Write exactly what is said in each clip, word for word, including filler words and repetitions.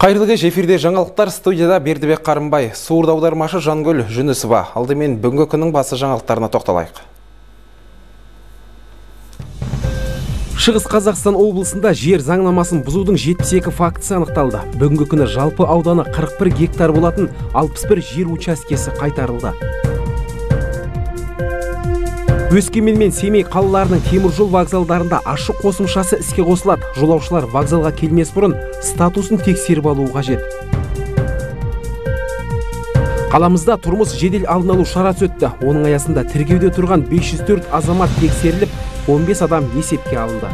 Қайырлы кеш, эфирде жаңалықтар, студияда Бердібек Қарымбай, суырда аудармашы Жангүл Жүнісова. Алдымен бүгінгі күннің басы жаңалықтарына тоқталайық. Шығыс Қазақстан облысында жер заңнамасын бұзудың жетпіс екі фактісі анықталды. Бүгінгі күні жалпы ауданы қырық бір гектар болатын алпыс бір жер учаскесі қайтарылды. Өскемен мен Семей қалаларының теміржол вокзалдарында ашық қосымшасы іске қосылады. Жолаушылар вокзалға келмес бұрын статусын тексеріп алуы қажет. Қаламызда тұрмыс жедел алдын алу шарасы өтті. Оның аясында тіркеуде тұрған бес жүз төрт азамат тексеріліп, он бес адам есепке алынды.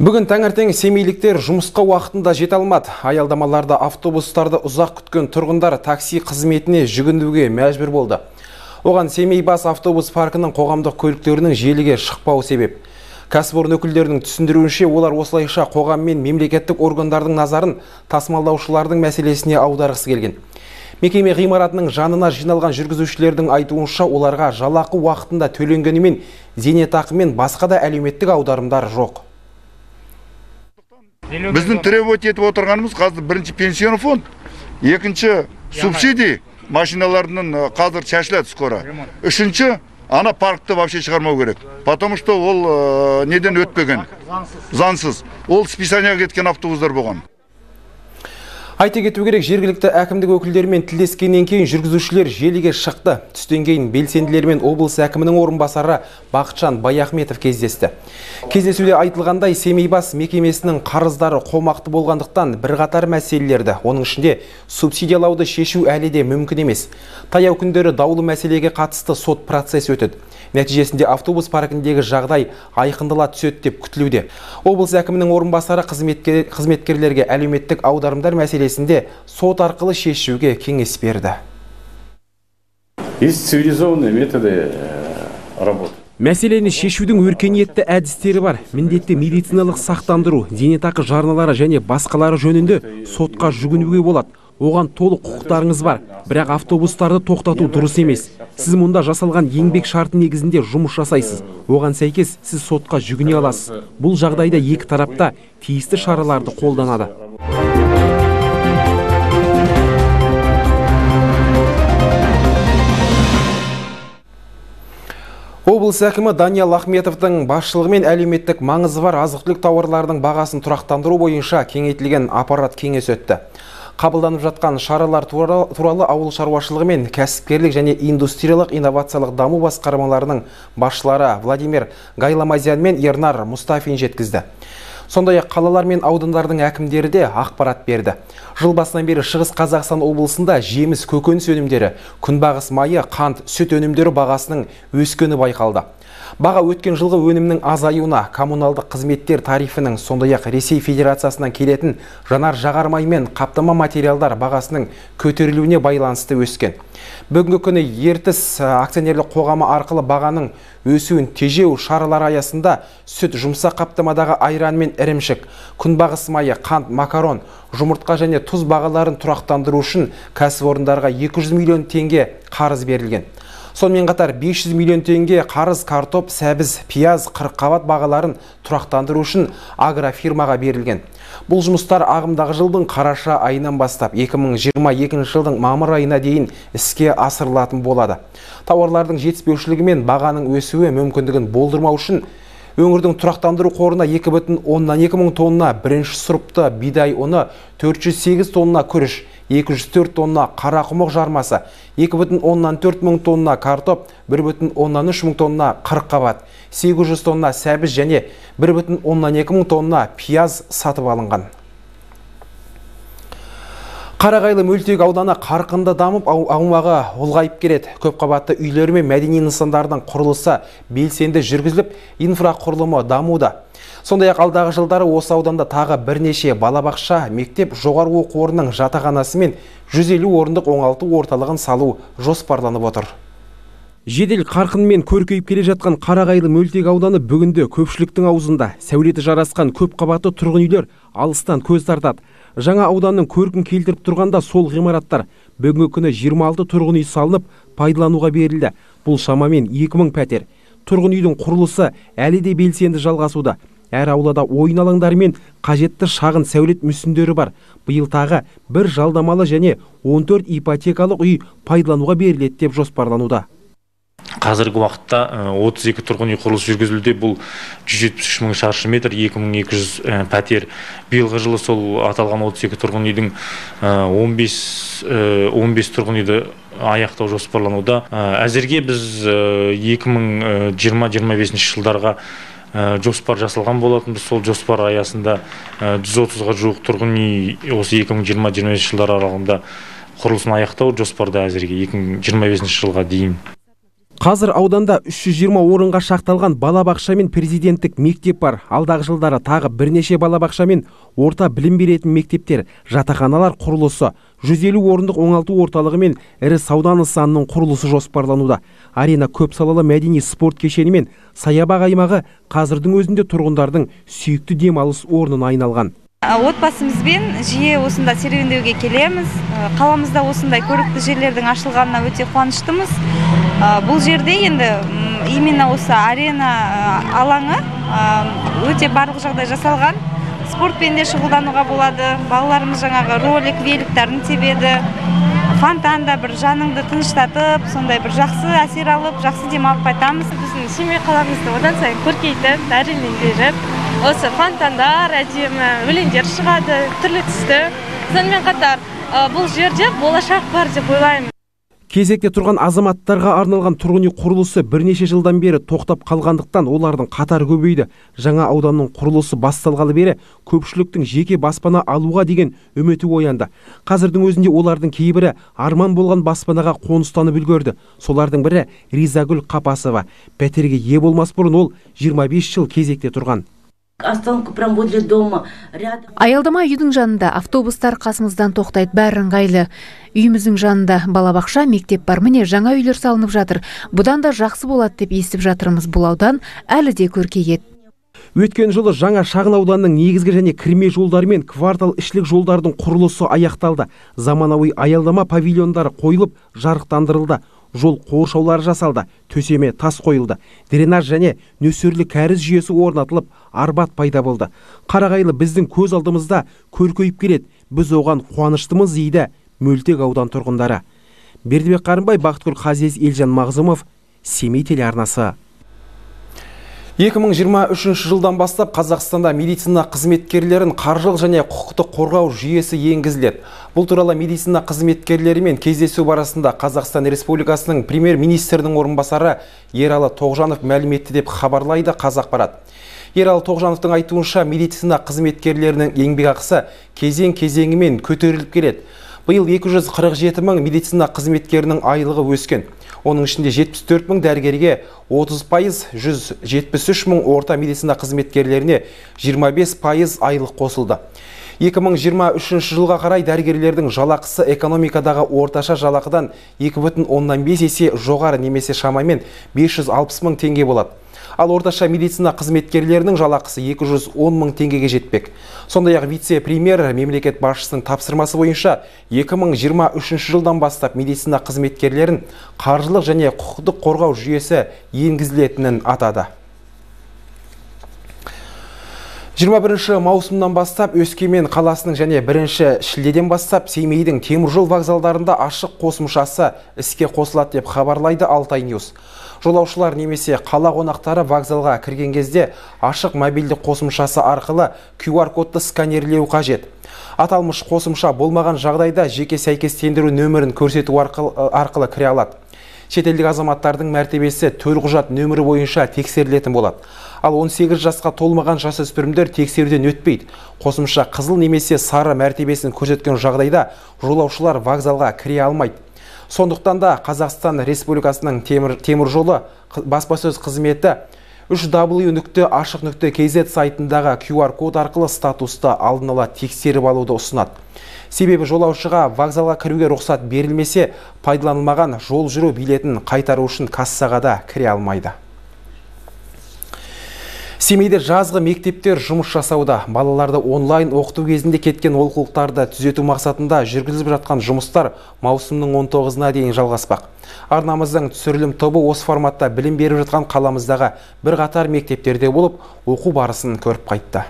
Бүгін таңертең семейліктер жұмысқа уақытында жете алмады. Аялдамаларда автобустарды ұзақ күткен тұрғындар такси қызметіне жүгінуге мәжбүр болды. Оған Семей бас автобус паркінің қоғамдық көліктерінің желіге шықпауы себеп. Кәсіпорын өкілдерінің түсіндіруінше, олар осылайша қоғам мен мемлекеттік органдардың назарын тасымалдаушылардың мәселесіне аударғысы келген. Мекеме ғимаратының жанына жиналған жүргізушілердің айтуынша, оларға жалақы уақытында төленгенімен зейнетақы мен басқа да әлеуметтік аударымдар жоқ. Біздің требовать етіп отырғанымыз қазір бірінші пенсионный фонд, екінші субсидий машиналарының қазір шашылады скоро. Үшінші, ана паркты вообще шығармау керек. Потому что ол неден өтпеген, заңсыз. Ол списанияға кеткен автобустар болған. Айта кету керек, жергілікті әкімдік өкілдерімен тілдескеннен кейін жүргізушілер желіге шықты. Түстен кейін белсенділермен облыс әкімінің орынбасары Бақытжан Баяхметов кездесті. Кездесуде айтылғандай, Семей бас мекемесінің қарыздары қомақты болғандықтан бірқатар мәселелерді, оның ішінде субсидиялауды шешу әлі де мүмкін емес. Таяу күндері даулы мәселеге қатысты сот процесі өтеді. Нәтижесінде автобус паркіндегі жағдай айқындала түседі деп күтілуде. Облыс әкімінің орынбасары қызметкер, қызметкерлерге әлеуметтік аударымдар мәселесінде сот арқылы шешуге кеңес берді. Есть цивилизованные методы работы. Мәселені шешудің өркениетті әдістері бар. Міндетті медициналық сақтандыру, зейнетақы жарналары және басқалары жөнінде сотқа жүгінуге болады. Оған толық құқықтарыңыз бар, бірақ автобустарды тоқтату дұрыс емес. Сіз мұнда жасалған еңбек шарты негізінде жұмыс жасайсыз. Оған сәйкес сіз сотқа жүгіне аласыз. Бұл жағдайда екі тарапта тиісті шараларды қолданады. Облыс әкімі Даниял Ахметовтың басшылығымен әлеуметтік маңызы бар азық-түлік тауарлардың бағасын тұрақтандыру бойынша кеңейтілген аппарат кеңес өтті. Қабылданып жатқан шаралар туралы ауыл шаруашылығы мен кәсіпкерлік және индустриялық инновациялық даму басқармаларының басшылары Владимир Гайламазян мен Ернар Мустафин жеткізді. Сондай-ақ қалалар мен аудандардың әкімдері де ақпарат берді. Жыл басынан бері Шығыс Қазақстан облысында жеміс, көкөніс өнімдері, күнбағыс майы, қант, сүт өнімдері бағасының өскені байқалды. Баға өткен жылғы өнімнің азаюына, коммуналдық қызметтер тарифінің, сондай-ақ Ресей Федерациясынан келетін жанар жағармай мен қаптама материалдар бағасының көтерілуіне байланысты өскен. Бүгінгі күні Ертіс акционерлік қоғамы арқылы бағаның өсуін тежеу шаралары аясында сүт, жұмсақ қаптамадағы айран мен ірімшік, күнбағыс майы, қант, макарон, жұмыртқа және тұз бағаларын тұрақтандыру үшін кәсіпорындарға екі жүз миллион теңге қарыз берілген. Сонымен қатар бес жүз миллион теңге қарыз картоп, сәбіз, пияз, қырыққабат бағаларын тұрақтандыру үшін агрофирмаға берілген. Бұл жұмыстар ағымдағы жылдың қараша айынан бастап екі мың жиырма екінші жылдың мамыр айына дейін іске асырылатын болады. Тауарлардың жетіспеушілігі мен бағаның өсуі мүмкіндігін болдырмау үшін өңірдің тұрақтандыру қорына екі бүтін оннан екі мың тонна бірінші сұрыпты бидай ұны, төрт жүз сегіз тонна күріш, екі жүз төрт тонна қарақұмық жармасы, екі бүтін оннан төрт мың тонна картоп, бір бүтін оннан үш мың тонна қырыққабат, сегіз жүз тонна сәбіз және бір бүтін оннан екі мың тонна пияз сатып алынған. Қарағайлы мөлтек ауданы қарқынды дамып, аумағы ұлғайып келеді. Көпқабатты үйлер мен мәдени нысандардың құрылысы белсенді жүргізіліп, инфрақұрылымы дамуда. Сондай-ақ алдағы жылдары осы ауданда тағы бірнеше балабақша, мектеп, жоғары оқу орнының жатақханасы мен жүз елу орындық оңалту орталығын салу жоспарланып отыр. Жедел қарқынмен көркейіп келе жатқан Қарағайлы мөлтек ауданы бүгінде көпшіліктің аузында. Сәулеті жарасқан көп қабатты тұрғын үйлер алыстан көз тартады. Жаңа ауданның көркін келтіріп тұрғанда сол ғимараттар бүгінгі күні жиырма алты тұрғын үй салынып пайдалануға берілді. Бұл шамамен екі мың пәтер. Тұрғын үйдің құрылысы әлі де белсенді жалғасуда. әр аулада ойын алаңдары мен қажетті шағын сәулет мүсіндері бар. Биыл тағы бір жалдамалы және он төрт ипотекалық үй пайдалануға беріледі деп жоспарлануда. Қазіргі уақытта отыз екі тұрғын үй құрылысы жүргізілуде. Бұл жүз жетпіс үш мың шаршы метр, екі мың екі жүз пәтер. Биылғы жылы сол аталған отыз екі тұрғын үйдің он бес тұрғын үйді аяқтау жоспарлануда. Әзірге біз екі мың жиырма жиырма бесінші жылдарға жоспар жасалған болатынбыз. Сол жоспар аясында жүз отызға жуық тұрғын үй осы екі мың жиырма жиырма бесінші жылдар аралығында құрылысын аяқтау жоспарда әзірге екі мың жиырма бесінші жылға дейін. Қазір ауданда үш жүз жиырма орынға шақталған балабақша мен президенттік мектеп бар. Алдағы жылдары тағы бірнеше балабақша мен орта білім беретін мектептер, жатақханалар құрылысы, жүз елу орындық оңалту орталығы мен ірі сауда нысанының құрылысы жоспарлануда. Арена көп салалы мәдени спорт кешені мен саябақ аймағы қазірдің өзінде тұрғындардың сүйікті демалыс орнына айналған. Отбасымызбен жиі осында серуендеуге келеміз. Қаламызда осындай көрікті жерлердің ашылғанына өте қуаныштымыз. Бұл жерде енді именно осы арена алаңы өте барлық жағдай жасалған. Спортпен де шұғылдануға болады. Балаларымыз жаңағы ролик, великтарын тебеді. Фонтанда бір жаныңды тыныштатып, сондай бір жақсы әсер алып, жақсы демалып қайтамыз. Біздің Семей қаламызды одан сайын көркейтіп, дәрежелендіріп, осы фонтандар, әдемі өлеңдер шығады, түрлі түсті. Сонымен қатар бұл жерде болашақ бар деп ойлаймын. Кезекте тұрған азаматтарға арналған тұрғын үй құрылысы бірнеше жылдан бері тоқтап қалғандықтан олардың қатары көбейді. Жаңа ауданның құрылысы басталғалы бері көпшіліктің жеке баспана алуға деген үміті оянды. Қазірдің өзінде олардың кейбірі арман болған баспанаға қоныстанып үлгерді. Солардың бірі Ризагүл Қапасова. Пәтерге ие болмас бұрын ол жиырма бес жыл кезекте тұрған. Аялдама үйдің жанында автобустар қасымыздан тоқтайды, бәрі ыңғайлы. Үйіміздің жанында балабақша, мектеп бар. Міне жаңа үйлер салынып жатыр. Бұдан да жақсы болады деп естіп жатырмыз. Бұл аудан әлі де көркейеді. Өткен жылы жаңа шағын ауданның негізгі және кірме жолдары мен квартал ішілік жолдардың құрылысы аяқталды. Заманауи аялдама павильондары қойылып, жарықтандырылды. Жол қоршаулары жасалды, төсеме тас қойылды, дренаж және нөсерлі кәріз жүйесі орнатылып, арбат пайда болды. Қарағайлы біздің көз алдымызда көркейіп келеді. Біз оған қуаныштымыз дейді Мөлтек аудан тұрғындары. Бердібек Қарынбай, Бақытгүл Қазиез, Елжан Мағзұмов, Семей телеарнасы. екі мың жиырма үшінші жылдан бастап Қазақстанда медицина қызметкерлерін қаржылық және құқықтық қорғау жүйесі енгізіледі. Бұл туралы медицина қызметкерлерімен кездесу барысында Қазақстан Республикасының премьер-министрінің орынбасары Ералы Тоғжанов мәлім етті деп хабарлайды Қазақпарат. Ералы Тоғжановтың айтуынша медицина қызметкерлерінің еңбекақысы кезең-кезеңімен көтеріліп келеді. Биыл екі жүз қырық жеті мың медицина қызметкерінің айлығы өскен. Оның ішінде жетпіс төрт мың дәрігерге отыз пайыз, жүз жетпіс үш мың орта медицина қызметкерлеріне жиырма бес пайыз айлық қосылды. екі мың жиырма үшінші жылға қарай дәрігерлердің жалақысы экономикадағы орташа жалақыдан екі бүтін оннан бес есе жоғары, немесе шамамен бес жүз алпыс мың теңге болады. Ал орташа медицина қызметкерлерінің жалақысы екі жүз он мың теңгеге жетпек. Сондай-ақ вице-премьер мемлекет басшысының тапсырмасы бойынша екі мың жиырма үшінші жылдан бастап медицина қызметкерлерін қаржылық және құқықтық қорғау жүйесі енгізілетінін атады. жиырма бірінші маусымнан бастап Өскемен қаласының және бірінші шілдеден бастап Семейдің теміржол вокзалдарында ашық қосымшасы іске қосылады деп хабарлайды Алтай Ньюс. Жолаушылар немесе қала қонақтары вокзалға кірген кезде ашық мобильді қосымшасы арқылы ку ар кодты сканерлеу қажет. Аталмыш қосымша болмаған жағдайда жеке сәйкестендіру нөмірін көрсету арқылы, арқылы кіре алады. Шетелдік азаматтардың мәртебесі төлқұжат нөмірі бойынша тексерілетін болады. Ал он сегіз жасқа толмаған жасөспірімдер тексеруден өтпейді. Қосымша қызыл немесе сары мәртебесін көрсеткен жағдайда жолаушылар вокзалға кіре алмайды. Сондықтан да Қазақстан Республикасының темір, темір жолы баспасөз қызметі үш дабл ю нүкте ашық нүкте кз сайтындағы ку ар код арқылы статусты алдын ала тексеріп алуды ұсынады. Себебі жолаушыға вокзалға кіруге рұқсат берілмесе, пайдаланылмаған жол жүру билетін қайтару үшін кассаға да кіре алмайды. Семейде жазғы мектептер жұмыс жасауда. Балаларды онлайн оқыту кезінде кеткен олқылықтарды түзету мақсатында жүргізіліп жатқан жұмыстар маусымның он тоғызына дейін жалғаспақ. Арнамыздың түсірілім тобы осы форматта білім беріп жатқан қаламыздағы бір қатар мектептерде болып, оқу барысын көріп қайтты.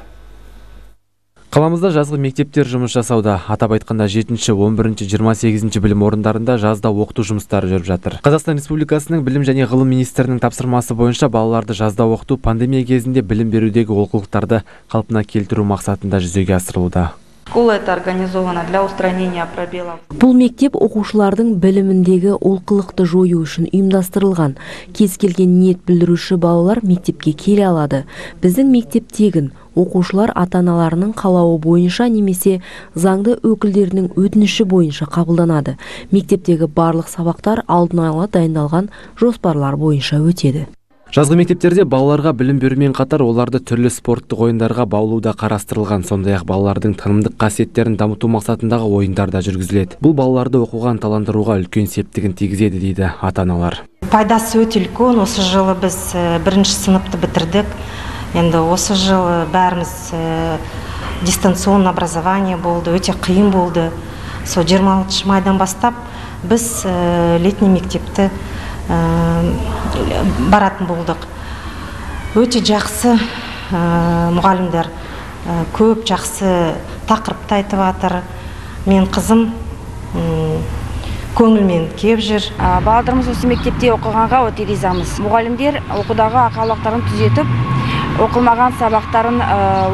Қаламызда жазғы мектептер жұмыс жасауда. Атап айтқанда жетінші, он бірінші, жиырма сегізінші білім орындарында жазда оқыту жұмыстары жүріп жатыр. Қазақстан Республикасының білім және ғылым министрінің тапсырмасы бойынша балаларды жазда оқыту пандемия кезінде білім берудегі олқылықтарды қалпына келтіру мақсатында жүзеге асырылуда. Школа это организована для устранения пробелов. Бұл мектеп оқушылардың біліміндегі олқылықты жою үшін ұйымдастырылған. Кез келген ниет білдіруші балалар мектепке келе алады. Біздің мектеп тегін. Оқушылар ата-аналарының қалауы бойынша немесе заңды өкілдерінің өтініші бойынша қабылданады. Мектептегі барлық сабақтар алдын ала дайындалған жоспарлар бойынша өтеді. Жазғы мектептерде балаларға білім берумен қатар оларды түрлі спорттық ойындарға баулуда қарастырылған. Сондай-ақ балалардың танымдық қасиеттерін дамыту мақсатындағы ойындар да жүргізіледі. Бұл балаларды оқуға ынталандыруға үлкен септігін тигізеді дейді ата-аналар. Пайдасы өте үлкен. Осы жылы біз бірінші сыныпты бітірдік. Енді осы жылы бәріміз дистанционный образование болды, өте қиын болды. Сол жиырма алтыншы майдан бастап біз летний мектепті баратын болдық. Өте жақсы мұғалімдер, көп жақсы тақырыпты айтып жатыр. Мен қызым көңілмен кеп жүр. Балаларымыз осы мектепте оқығанға өте ризамыз. Мұғалімдер оқудағы ақаулықтарын түзетіп, оқылмаған сабақтарын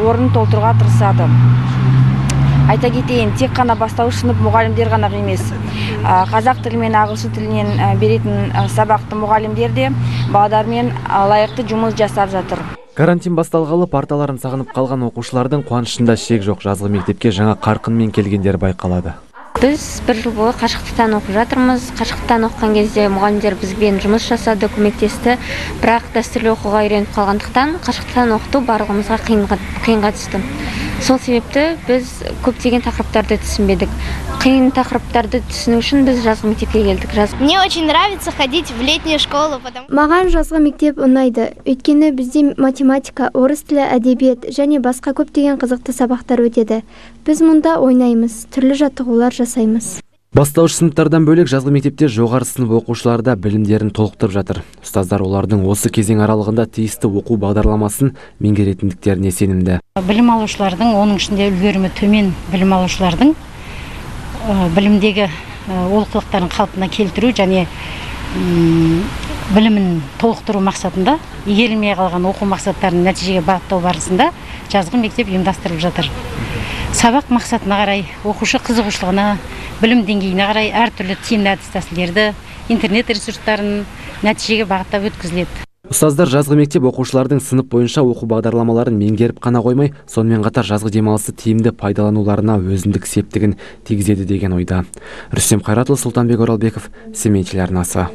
орнын толтыруға тырысады. Айта кетейін, тек қана бастауыш сынып мұғалімдер ғана емес. Қазақ тілі мен ағылшын тілінен беретін сабақты мұғалімдер де балалармен лайықты жұмыс жасап жатыр. Карантин басталғалы парталарын сағынып қалған оқушылардың қуанышында шек жоқ. Жазғы мектепке жаңа қарқынмен келгендер байқалады. Біз бір жыл бойы қашықтықтан оқып жатырмыз. Қашықтықтан оқыған кезде мұғалімдер бізбен жұмыс жасады, көмектесті. Бірақ дәстүрлі оқуға үйреніп қалғандықтан қашықтықтан оқыту барлығымызға қиынға түсті. Сол себепті біз көптеген тақырыптарды түсінбедік. Қиын тақырыптарды түсіну үшін біз жазғы мектепке келдік. Мне очень нравится ходить в летнюю школу. Маған жазғы мектеп ұнайды. Өйткені бізде математика, орыс тілі, әдебиет және басқа көптеген қызықты сабақтар өтеді. Біз мұнда ойнаймыз, түрлі жаттығулар жасаймыз. Бастауыш сыныптардан бөлек жазғы мектепте жоғары сынып оқушылары да білімдерін толықтырып жатыр. Ұстаздар олардың осы кезең аралығында тиісті оқу бағдарламасын меңгеретіндіктеріне сенімді. Білім алушылардың, оның ішінде үлгерімі төмен білім алушылардың білімдегі олқылықтарын қалпына келтіру және білімін толықтыру мақсатында игерілмей қалған оқу мақсаттарын нәтижеге бағыттау барысында жазғы мектеп ұйымдастырылып жатыр. Сабақ мақсатына қарай, оқушы қызығушылығына, білім деңгейіне қарай әртүрлі тиімді әдіс тәсілдерді, интернет ресурстарын нәтижеге бағыттап өткізіледі. Ұстаздар жазғы мектеп оқушылардың сынып бойынша оқу бағдарламаларын меңгеріп қана қоймай, сонымен қатар жазғы демалысты тиімді пайдалануларына өзіндік септігін тигізеді деген ойда. Рүстем Қайратұлы, Сұлтанбек Оралбеков, Семей телеарнасы.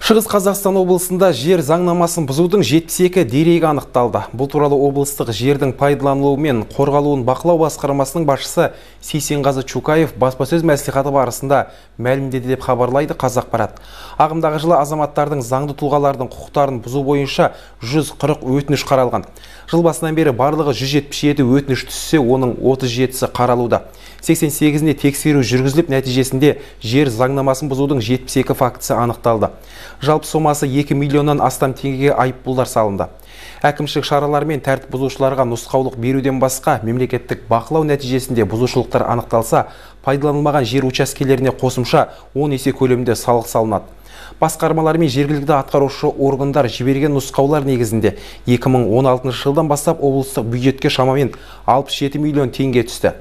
Шығыс Қазақстан облысында жер заңнамасын бұзудың жетпіс екі дерегі анықталды. Бұл туралы облыстық жердің пайдаланылуы мен қорғалуын бақылау басқармасының басшысы Сейсенғазы Чукаев баспасөз мәслихаты барысында мәлімдеді деп хабарлайды Қазақпарат. Ағымдағы жылы азаматтардың заңды тұлғалардың құқықтарын бұзу бойынша жүз қырық өтініш қаралған. Жыл басынан бері барлығы жүз жетпіс жеті өтініш түссе, оның отыз жетісі қаралуда. сексен сегізіне тексеру жүргізіліп, нәтижесінде жер заңнамасын бұзудың жетпіс екі фактісі анықталды. Жалпы сомасы екі миллионнан астам теңгеге айыппұлдар салынды. Әкімшілік шаралар мен тәртіп бұзушыларға нұсқаулық беруден басқа мемлекеттік бақылау нәтижесінде бұзушылықтар анықталса, пайдаланылмаған жер учаскелеріне қосымша он есе көлемінде салық салынады. Басқармалар мен жергілікті атқарушы органдар жіберген нұсқаулар негізінде екі мың он алтыншы жылдан бастап облыстық бюджетке шамамен алпыс жеті миллион теңге түсті.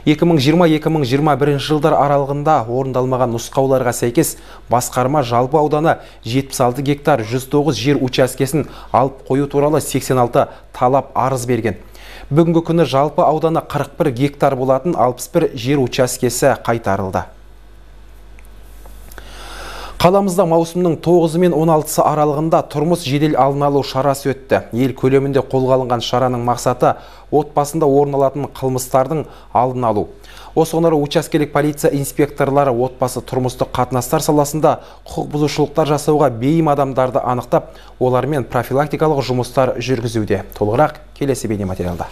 екі мың жиырма - екі мың жиырма бірінші жылдар аралығында орындалмаған нұсқауларға сәйкес басқарма жалпы ауданы жетпіс алты гектар жүз тоғыз жер учаскесін алып қою туралы сексен алты талап арыз берген. Бүгінгі күні жалпы ауданы қырық бір гектар болатын алпыс бір жер учаскесі қайтарылды. Қаламызда маусымның тоғызы мен он алтысы аралығында тұрмыс жедел алдын алу шарасы өтті. Ел көлемінде қолға алынған шараның мақсаты отбасында орын алатын қылмыстардың алдын алу. Осыған орай учаскелік полиция инспекторлары отбасы тұрмыстық қатынастар саласында құқық бұзушылықтар жасауға бейім адамдарды анықтап, олармен профилактикалық жұмыстар жүргізуде. Толығырақ келесі бейнематериалда.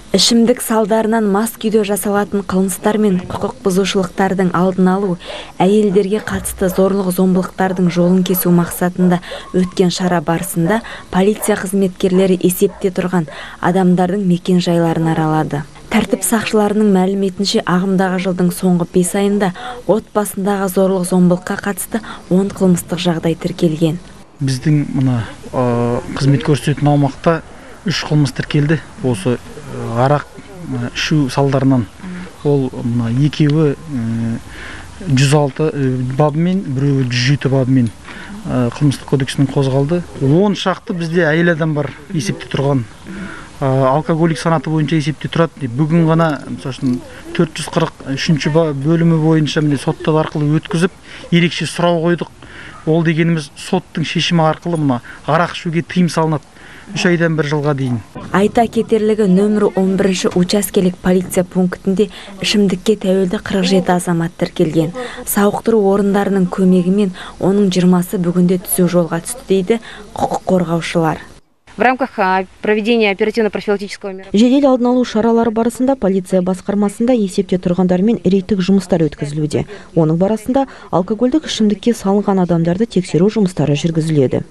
Ішімдік салдарынан мас күйде жасалатын қылмыстар мен құқық бұзушылықтардың алдын алу, әйелдерге қатысты зорлық-зомбылықтардың жолын кесу мақсатында өткен шара барысында полиция қызметкерлері есепте тұрған адамдардың мекен жайларын аралады. Тәртіп сақшыларының мәліметінше ағымдағы жылдың соңғы бес айында отбасындағы зорлық-зомбылыққа қатысты он қылмыстық жағдай тіркелген. Біздің мына қызмет көрсететін аумақта үш қылмыс тіркелді. Осы арақ ішу салдарынан ол екеуі жүз алты бабымен, біреуі жүз жеті бабымен қылмыстық кодексінің қозғалды. он шақты бізде әйел адам бар есепте тұрған. Алкоголик санаты бойынша есепте тұрады. Бүгін ғана төрт жүз қырық үшінші бөлімі бойынша соттар арқылы өткізіп, ерекше сұрау қойдық. Ол дегеніміз соттың шешімі арқылы мына арақ ішуге тыйым салынады. үш айдан бір жылға дейін. Айта кетерлігі нөмірі он бірінші учаскелік полиция пунктінде ішімдікке тәуелді қырық жеті азамат тіркелген. Сауықтыру орындарының көмегімен оның жиырмасы бүгінде түзу жолға түсті дейді құқық қорғаушылар. В рамках проведения оперативно-профилактического мероприятия жедел алдын алу шаралары барысында полиция басқармасында есепте тұрғандармен рейдтік жұмыстар өткізілуде. Оның барысында алкогольдік ішімдікке салынған адамдарды тексеру жұмыстары жүргізіледі.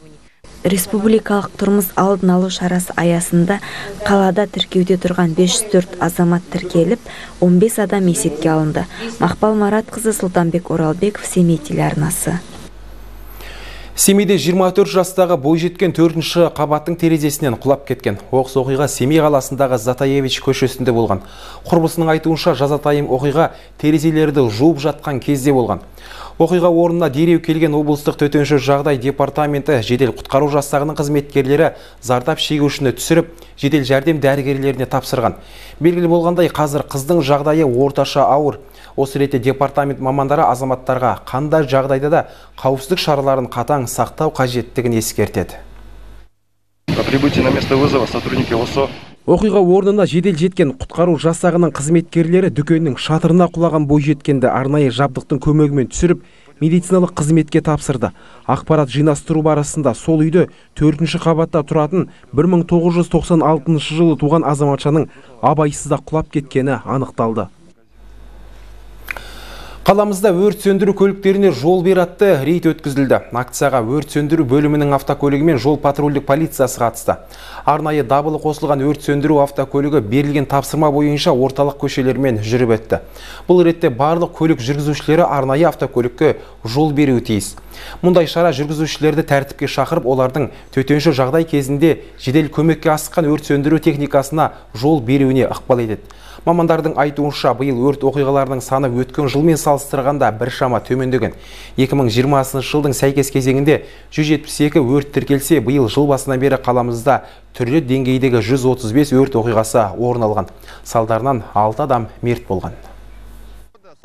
Республикалық тұрмыс алдын алу шарасы аясында қалада тіркеуде тұрған бес жүз төрт азамат тіркеліп, он бес адам есепке алынды. Мақпал Маратқызы, Сұлтанбек Оралбеков, Семей телеарнасы. Семейде жиырма төрт жастағы бойжеткен төртінші қабаттың терезесінен құлап кеткен. Оқыс оқиға Семей қаласындағы Затаевич көшесінде болған. Құрбысының айтуынша жазатайым оқиға терезелерді жуып жатқан кезде болған. Оқиға орнына дереу келген облыстық төтенше жағдай департаменті жедел құтқару жасағының қызметкерлері зардап шегушіні түсіріп, жедел жәрдем дәрігерлеріне тапсырған. Белгілі болғандай, қазір қыздың жағдайы орташа ауыр. Осы ретте департамент мамандары азаматтарға қандай жағдайда да қауіпсіздік шараларын қатаң сақтау қажеттігін ескертеді. По прибытии на место вызова сотрудники ОСО Оқиға орнына жедел жеткен құтқару жасағының қызметкерлері дүкеннің шатырына құлаған бойжеткенді арнайы жабдықтың көмегімен түсіріп, медициналық қызметке тапсырды. Ақпарат жинастыру барысында сол үйде төртінші қабатта тұратын бір мың тоғыз жүз тоқсан алтыншы жылы туған азаматшаның абайсызда құлап кеткені анықталды. Қаламызда өрт сөндіру көліктеріне жол бер атты рейд өткізілді. Акцияға өрт сөндіру бөлімінің автокөлігі мен жол патрульдік полициясы қатысты. Арнайы дабылы қосылған өрт сөндіру автокөлігі берілген тапсырма бойынша орталық көшелермен жүріп өтті. Бұл ретте барлық көлік жүргізушілері арнайы автокөлікке жол беруі тиіс. Мұндай шара жүргізушілерді тәртіпке шақырып, олардың төтенше жағдай кезінде жедел көмекке асыққан өрт сөндіру техникасына жол беруіне ықпал етеді. Мамандардың айтуынша, биыл өрт оқиғаларының саны өткен жылмен салыстырғанда біршама төмендеген. екі мың жиырмасыншы жылдың сәйкес кезеңінде жүз жетпіс екі өрт тіркелсе, биыл жыл басынан бері қаламызда түрлі деңгейдегі жүз отыз бес өрт оқиғасы орын алған. Салдарынан алты адам мерт болған.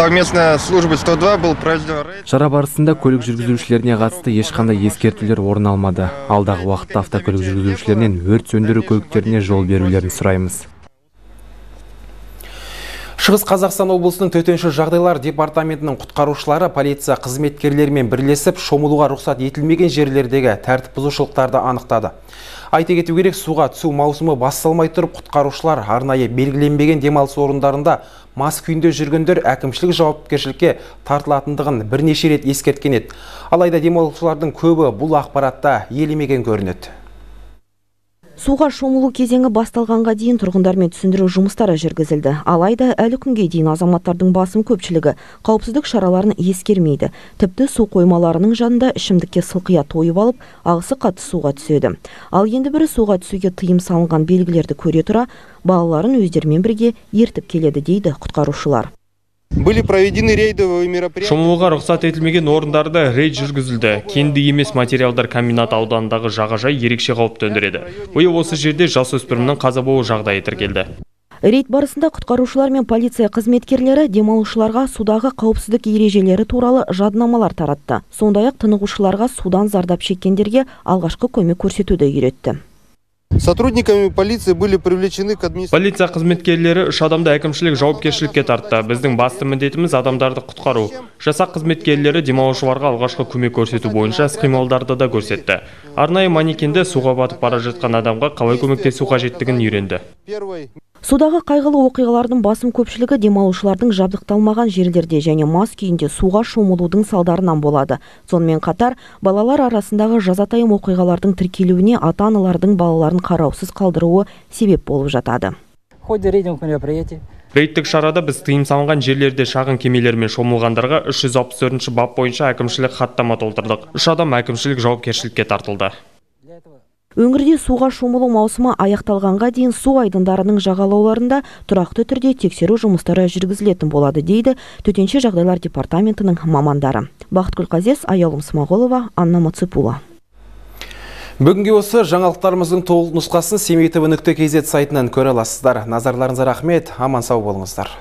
Совместная служба сто два был проведен рейд. Шара барысында көлік жүргізушілеріне қатысты ешқандай ескертулер орын алмады. Алдағы уақытта автокөлік жүргізушілерінен өрт сөндіру көліктеріне жол берулерін сұраймыз. Шығыс Қазақстан облысының төтенше жағдайлар департаментінің құтқарушылары полиция қызметкерлерімен бірлесіп шомылуға рұқсат етілмеген жерлердегі тәртіп бұзушылықтарды анықтады. Айта кету керек, суға түсу маусымы басталмай тұрып, құтқарушылар арнайы белгіленбеген демалыс орындарында мас күйінде жүргендер әкімшілік жауапкершілікке тартылатындығын бірнеше рет ескерткен еді. Алайда демалушылардың көбі бұл ақпаратта елемеген көрінеді. Суға шомылу кезеңі басталғанға дейін тұрғындармен түсіндіру жұмыстары жүргізілді. Алайда әлі күнге дейін азаматтардың басым көпшілігі қауіпсіздік шараларын ескермейді. Тіпті су қоймаларының жанында ішімдікке сылқия тойып алып, ағысы қатты суға түседі. Ал енді бірі суға түсуге тыйым салынған белгілерді көре тұра, балаларын өздерімен бірге ертіп келеді дейді құтқарушылар. Были проведены рейдовые мероприятия. Шомылуға рұқсат етілмеген орындарда рейд жүргізілді. Кенді емес материалдар комбинат ауданындағы жағажай ерекше қауіп төндіреді. Биыл осы жерде жасөспірімнің қаза болу жағдайы тіркелді. Рейд барысында құтқарушылар мен полиция қызметкерлері демалушыларға судағы қауіпсіздік ережелері туралы жадынамалар таратты. Сондай-ақ тынығушыларға судан зардап шеккендерге алғашқы көмек көрсетуді үйретті. Сотрудниками полиции были привлечены к администрации. Полиция қызметкерлері үш адамды әкімшілік жауапкершілікке тартты. Біздің басты міндетіміз адамдарды құтқару. Жасақ қызметкерлері демалушыларға алғашқы көмек көрсету бойынша іс-қимылдарды да көрсетті. Арнайы манекенде суға батып бара жатқан адамға қалай көмектесу қажеттігін үйренді. Судағы қайғылы оқиғалардың басым көпшілігі демалушылардың жабдықталмаған жерлерде және мас күйінде суға шомылудың салдарынан болады. Сонымен қатар, балалар арасындағы жазатайым оқиғалардың тіркелуіне ата-аналардың балаларын қараусыз қалдыруы себеп болып жатады. Рейдтік шарада біз тыйым салынған жерлерде шағын кемелермен шомылғандарға үш жүз алпыс төртінші бап бойынша әкімшілік хаттама толтырдық. үш адам әкімшілік жауапкершілікке тартылды. Өңірде суға шомылу маусымы аяқталғанға дейін су айдындарының жағалауларында тұрақты түрде тексеру жұмыстары жүргізілетін болады, дейді Төтенше жағдайлар департаментінің мамандары. Бақытгүл Қазес, Аялым Смағолова, Анна Маципула. Бүгінге осы жаңалықтарымыздың толық нұсқасын семей тэ вэ нүкте кз сайтынан көре аласыздар. Назарларыңызға рахмет, аман сау болыңыздар.